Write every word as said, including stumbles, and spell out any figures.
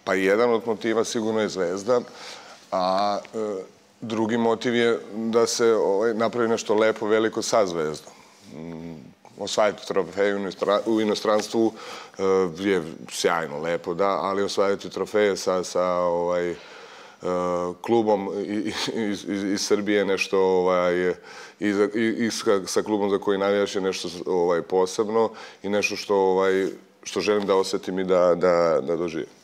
Pa jedan od motiva sigurno je Zvezda, a drugi motiv je da se napravi nešto lepo, veliko sa Zvezdom. Osvajati trofeje u inostranstvu je sjajno, lepo, da, ali osvajati trofeje sa klubom iz Srbije nešto i sa klubom za koji navijaš je nešto posebno i nešto što želim da osetim i da doživim.